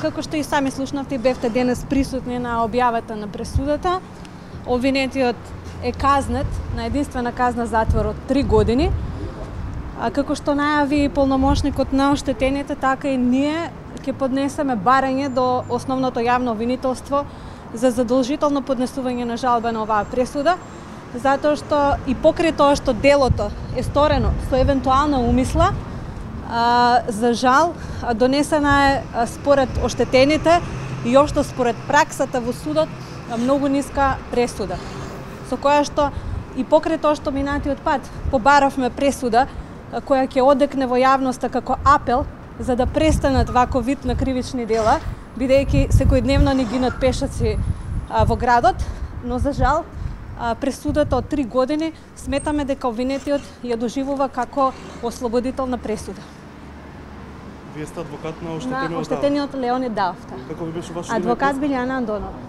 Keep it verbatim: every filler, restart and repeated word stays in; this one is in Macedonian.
како што и сами слушнавте, бевте денес присутни на објавата на пресудата. Обвинетиот е казнет на единствена казна затвор од три години. А како што најави полномошникот на оштетените, така и ние ќе поднесеме барање до основното јавно обвинителство за задолжително поднесување на жалба на оваа пресуда, затоа што и покрај тоа што делото е сторено со евентуална умисла, а, за жал донесена е според оштетените и општо според праксата во судот многу ниска пресуда, со која што и покрај тоа што минатиот пат побаравме пресуда која ќе одекне во јавноста како апел за да престанат вако вид на кривични дела, бидејќи секојдневно ни гинат пешаци а, во градот, но за жал а, пресудата од три години сметаме дека обвинетиот ја доживува како ослободителна пресуда. Вие сте адвокат на оштетениот? На оштетениот Леонид Давта. Како ви беше вашето име? Адвокат Билјана Андонова.